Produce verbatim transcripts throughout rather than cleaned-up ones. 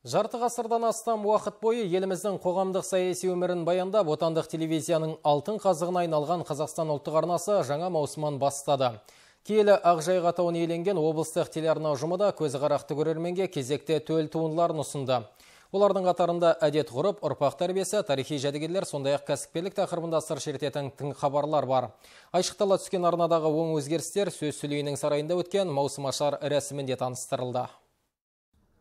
Жарты ғасырдан астам уақыт бойы еліміздің қоғамдық саяси өмірін баяндап, отандық телевизияның алтын қазығына айналған Қазақстан ұлттық арнасы жаңа маусымын бастады. Киелі Ақжайық атауын иеленген облыстық телеарна ұжымы да көзі қарақты көрерменге кезекте төл туындыларын ұсынды. Олардың қатарында әдет ғұрып, ұрпақ тәрбиесі, тарихи жәдігерлер, сондай-ақ кәсіпкерлік тақырыбында сыр шертетін тың хабарлар бар. Айшықтала түскен арнадағы оң өзгерістер сөз сөйлеуінің сарайында өткен маусымашар рәсімінде таныстырылды.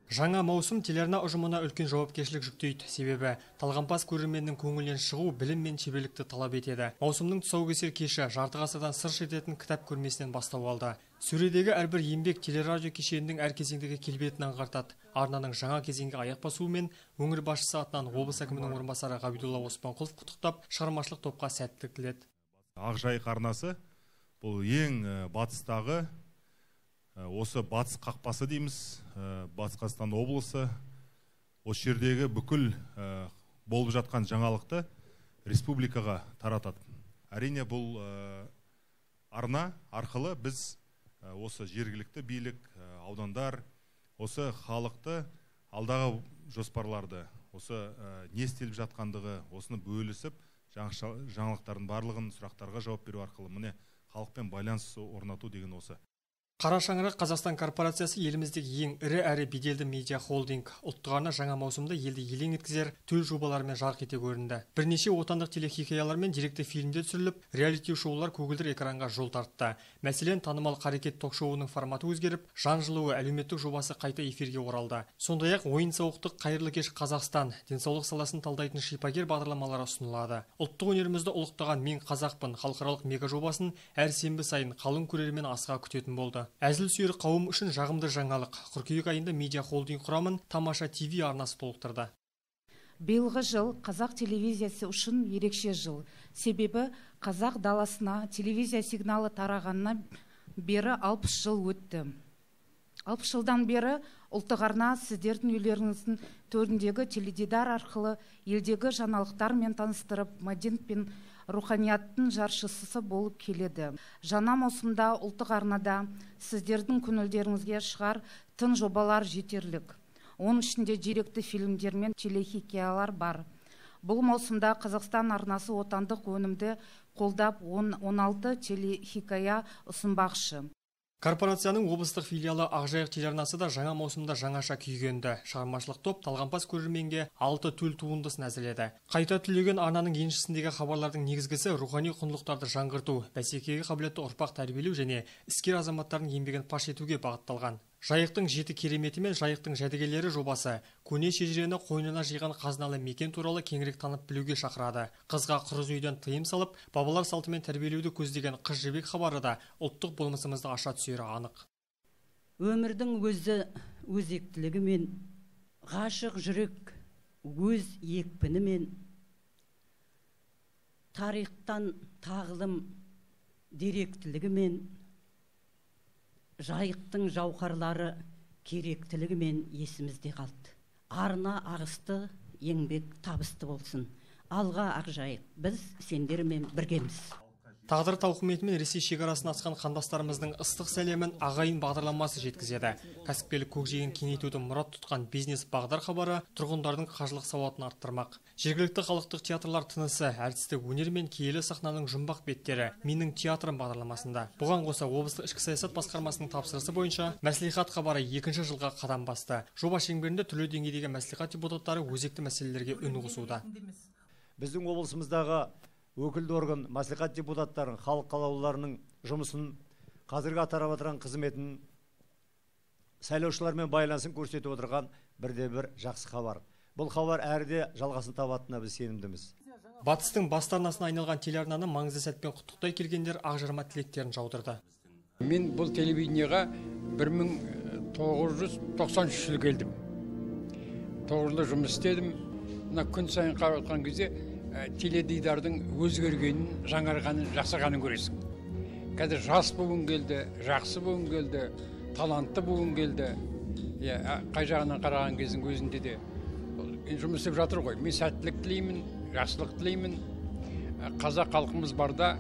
Жаңа маусым телеарна ұжымына үлкен жауапкершілік жүктейді. Себебі талғампаз көрерменнің көңілінен шығу білім мен шеберлікті талап етеді. Маусымның тұсаукесер кеші жарты ғасырдан сыр шертетін кітап көрмесінен бастау алды. Сөредегі әрбір еңбек телерадио кешенінің әр кезеңдегі келбетін аңғартады. Арнаның жаңа кезеңге аяқ басуымен өңір басшысы атынан облыс әкімінің орынбасары Ғабидолла Оспанқұлов құттықтап, шығармашылық топқа сәттілік тіледі. Ақжайық арнасы бұл ең батыстағы осы батыс қақпасы дейміз, Батыс Қазақстан облысы. Осы жердегі бүкіл болып жатқан жаңалықты республикаға таратады. Әрине бұл арна арқылы біз осы жергілікті билік, аудандар, осы халықты алдағы жоспарларды, осы не істеліп жатқандығы, осыны бөлісіп, жаңалықтардың барлығын сұрақтарға жауап беру арқылы міне халықпен байланыс орнату деген осы. Қара шаңырақ Қазақстан корпорациясы еліміздегі ең ірі әрі беделді медиа холдинг. Ұлттық арна жаңа маусымда елді елең еткізер төл жобалармен жарқ ете көрінді. Бірнеше отандық телехикаялар мен деректі фильмдер түсіріліп, реалити шоулар көгілдір экранға жол тартты. Мәселен, танымал қарекет ток-шоуының форматы өзгеріп, жан жылуы әлеуметтік жобасы қайта эфирге оралды. Сондай-ақ ойын-сауықтық қайырлы кеш Қазақстан, денсаулық саласын талдайтын шипагер бағдарламалары ұсынылады. Ұлттық өнерімізді ұлықтаған Мен қазақпын халықаралық мега жобасын әр сенбі сайын қалың көрермен асыға күтетін болды. Әзіл сүйер қауым үшін жағымды жаңалық. Қыркүйек айында медиа холдинг құрамын Тамаша ТВ арнасы толықтырды. Биылғы жыл қазақ телевизиясы үшін ерекше жыл. Себебі қазақ даласына телевизия сигналы тарағанына бері алпыс жыл өтті. алпыс жылдан бері ұлттық арна сіздердің үйлеріңіздің төріндегі теледидар арқылы елдегі жаңалықтармен таныстырып, мәдениет пен руханияттың жаршысы болып келеді. Жаңа маусымда ұлттық арнада сіздердің көңілдеріңізге шығар тың жобалар жетерлік. Оның ішінде деректі фильмдер мен телехикаялар бар. Бұл маусымда Қазақстан арнасы отандық өнімді қолдап он алты телехикая ұсынбақшы. Корпорацияның облыстық филиалы Ақжайық телеарнасы да жаңа маусымда жаңаша күйгенді. Шығармашылық топ талғампаз көрерменге алты төл туындысын әзірледі. Қайта түлеген арнаның еншісіндегі хабарлардың негізгісі рухани құндылықтарды жаңғырту, бәсекеге қабілетті ұрпақ тәрбиелеу және іскер азаматтардың еңбегін паш етуге бағытталған. Жайықтың жеті кереметі мен Жайықтың жәдігерлері жобасы көне шежірені қойнына жиған қазыналы мекен туралы кеңірек танып білуге шақырады. Қызға қырыз үйден тыйым салып, бабалар салтымен тәрбиелеуді көздеген қыз жібек хабары да ұлттық болмысымызды аша түсері анық. Өмірдің өзі өзектілігімен, ғашық жүрек өз екпінімен, тарихтан тағылым деректілігімен, Жайықтың жауһарлары керектілігімен есімізде қалды. Арна ағысты, еңбек табысты болсын. Алға Ақжайық, біз сендермен біргеміз. Тағдыр тауқыметімен Ресей шекарасын асқан қандастарымыздың ыстық сәлемін ағайын бағдарламасы жеткізеді. Кәсіпкерлік көкжиегін кеңейтуді мұрат тұтқан бизнес бағдар хабары тұрғындардың қаржылық сауатын арттырмақ. Жергілікті халықтық театрлар тынысы, әртістік өнер мен киелі сахнаның жұмбақ беттері менің театрым бағдарламасында. Бұған қоса облыстық ішкі саясат басқармасының тапсырысы бойынша мәслихат хабары екінші жылға қадам басты. Жоба шеңберінде түрлі деңгейдегі мәслихат депутаттары өзекті мәселелерге үн қосуда. Біздің облысымыздағы өкілді орган мәслихат депутаттарын, халық қалаулыларының жұмысын, қазіргі атқарып отырған қызметін, сайлаушылармен байланысын көрсетіп отырған бірде бір жақсы хабар. Бұл хабар әрде жалғасын табатынына біз сенімдіміз. Батыстың бастарнасына айналған телеарнаны маңызды сәтпен құттықтай келгендер ақжарма тілектерін жаудырды. Мен бұл телевидениеға бір мың тоғыз жүз тоқсан үш жылы келдім. тоғыз жылда жұмыс істедім. Мына күн сайын қарап отқан кезде теледидардың өзгергенін, жаңарғанын, жақсарғанын көресің. Қазір жас буын келді, жақсы буын келді, талантты буын келді. Қай жағынан қараған кездің өзінде де жұмыс істеп жатыр ғой. Мен сәттілік тілеймін, жақсылық тілеймін. Қазақ халқымыз барда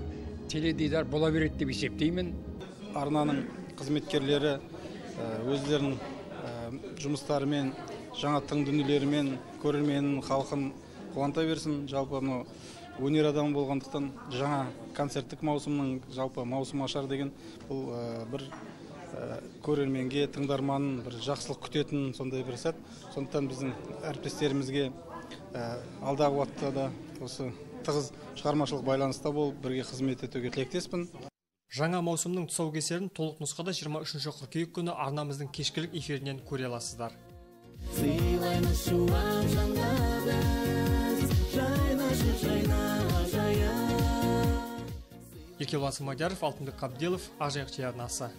теледидар бола береді деп есептеймін. Арнаның қызметкерлері өздерінің жұмыстарымен жаңа тың дүниелерімен көрерменін халқын қуанта берсін. Жалпы мынау өнер адамы болғандықтан жаңа концерттік маусымның жалпы маусым ашар деген бұл бір көрерменге, тыңдарманын бір жақсылық күтетін сондай бір сәт. Сондықтан біздің әріптестерімізге алдағы уақытта да осы тығыз шығармашылық байланыста болып бірге қызмет етуге тілектеспін. Жаңа маусымның тұсаукесерін толық нұсқада жиырма үшінші қыркүйек күні арнамыздың кешкілік эфирінен көре аласыздар. Еркебұлан Смадияров, Алтынбек Қабделов, Ақжайық телеарнасы.